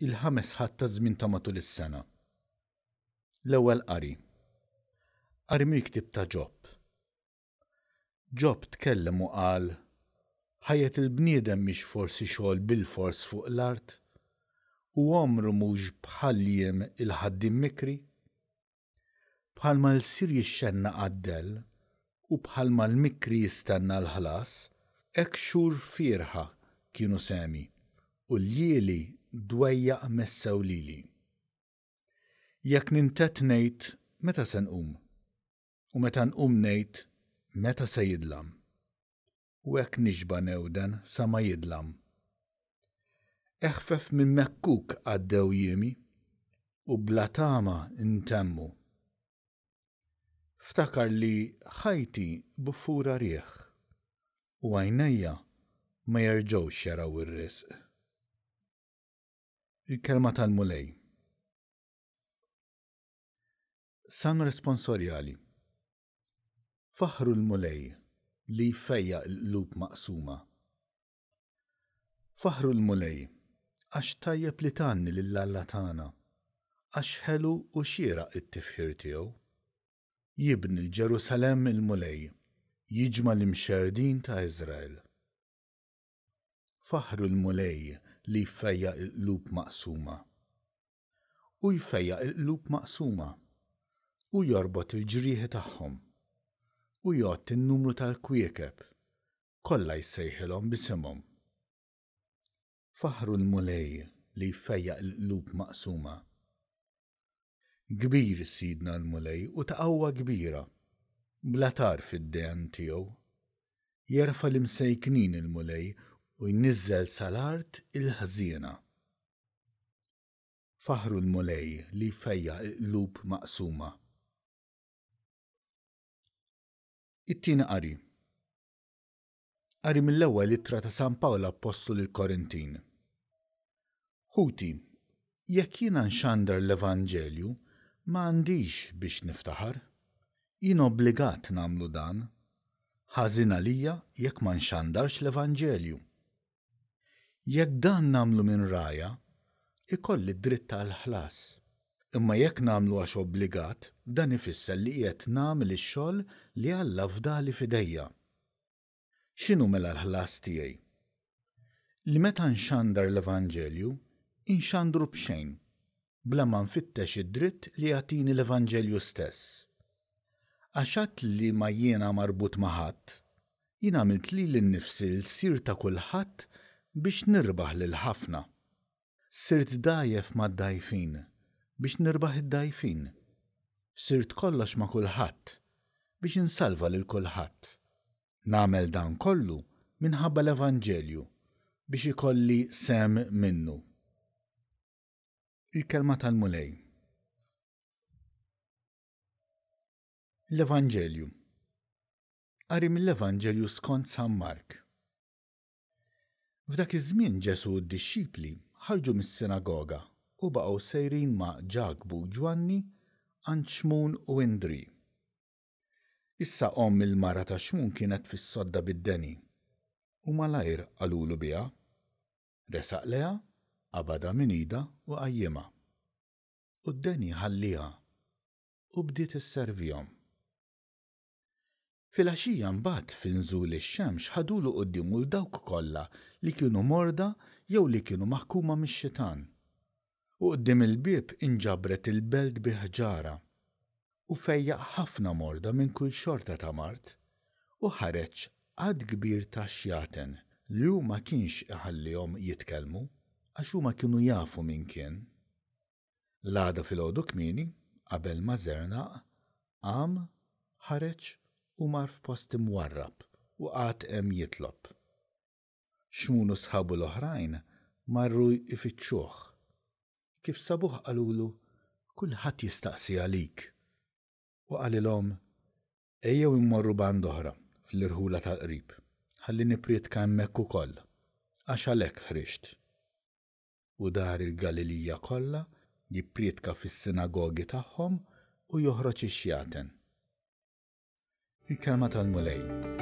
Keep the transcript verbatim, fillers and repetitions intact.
Il-ħames Ħadd taż-żmien ta' matul is-sena. L-ewwel qari. Qari mill-ktieb ta' Ġob. Ġob tkellem u qal, Ħajjet il-bniedem mhix forsi xogħol bilfors fuq l-art? U għomru mhux bħal jiem il-ħaddiem mikri? Bħalma l-lsir jixxennaq għad-dell, u bħalma l-mikri jistenna l-ħlas, hekk xhur fierħa kienu sehmi, u ljieli dwejjaq messew lili. Jekk nintedd ngħid, Meta se nqum? U meta nqum ngħid, Meta se jidlam? U hekk nixba' newden sa ma jidlam. Eħfef minn mekkuk għaddew jiemi, u bla tama ntemmu. Ftakar li ħajti buffura riħ, u għajnejja ma jerġgħux jaraw ir-risq. Il-Kelma tal-Mulej. Salm Responsorjali. Faħħru l-Mulej li jfejjaq il-qlub maqsuma. Faħħru l-Mulej, għax tajjeb li tgħanni lil Alla tagħna, għax ħelu u xieraq it-tifħir tiegħu. Jibni l-Ġerusalemm il-Mulej, jiġma' l-imxerrdin ta' Iżrael. Faħħru l-Mulej li jfejjaq il-qlub maqsuma. Hu jfejjaq il-qlub maqsuma. Hu jorbot il-ġrieħi tagħhom. Hu jgħodd in-numru tal-kwiekeb, kollha jsejħilhom b'isimhom. Faħħru l-Mulej li jfejjaq il-qlub maqsuma. Kbir Sidna l-Mulej u ta' qawwa kbira, bla tarf id-dehen tiegħu. Jerfa' l-imsejknin il-Mulej u jniżżel sal-art il-ħżiena. Faħħru l-Mulej li jfejjaq il-qlub maqsuma. It-tieni qari. Qari mill-ewwel ittra ta' San Pawl Appostlu lill-Korintin. Ħuti, jekk jiena nxandar l-Evanġelju, ma għandix biex niftaħar. Jien obbligat nagħmlu dan. Ħażin għalija jekk ma nxandarx l-Evanġelju. Jekk dan nagħmlu minn rgħajja, ikolli d-dritt għall-ħlas. Imma jekk nagħmlu għax obbligat, dan ifisser li qiegħed nagħmel ix-xogħol li Alla fdali f'idejja. X'inhu mela l-ħlas tiegħi? Li meta nxandar l-Evanġelju, inxandru b'xejn, bla ma nfittex id-dritt li jagħtini l-Evanġelju stess. Għax għad li ma jiena marbut ma' ħadd, jien għamilt lili nnifsi lsir ta' kulħadd biex nirbaħ lil ħafna. Sirt dgħajjef mad-dgħajfin, biex nirbaħ id-dgħajfin. Sirt kollox ma' kulħadd, biex insalva lil kulħadd. Nagħmel dan kollu minħabba l-Evanġelju, biex ikolli sehem minnu. Il-Kelma tal-Mulej. L-Evanġelju. Qari mill-Evanġelju skont San Mark. F'dak iż-żmien Ġesù u d-dixxipli ħarġu mis-sinagoga u baqgħu sejrin ma' Ġakbu u Ġwanni għand Xmun u Indri. Issa omm il-mara ta' Xmun kienet fis-sodda bid-deni, u malajr qalulu biha. Resaq lejha, qabadha minn idha u qajjimha. U d-deni ħallieha u bdiet isservihom. Filgħaxija mbagħad fi nżul ix-xemx ħadulu quddiemu 'l dawk kollha li kienu morda jew li kienu maħkuma mix-xitan. U quddiem il-bieb inġabret il-belt bi ħġarha. U fejjaq ħafna morda minn kull xorta ta' mard, u ħareġ għadd kbir ta' xjaten li hu ma kienx iħallihom jitkellmu, għax huma kienu jafu min kien. L-għada filgħodu kmieni, qabel ma żernaq, qam, ħareġ u mar f'post imwarrab u qagħad hemm jitlob. Xmun u sħabu l-oħrajn marru jfittxuh. Kif sabuh qalulu, Kulħadd jistaqsi għalik. U qalilhom, Ejjew immorru band'oħra, fl-irħula tal-qrib, ħalli nippriedka hemmhekk ukoll, għax għalhekk ħriġt. U dar il-Galilija kollha, jippriedka fis-sinagogi tagħhom u joħroġ ix-xjaten. Il-Kelma tal-Mulej.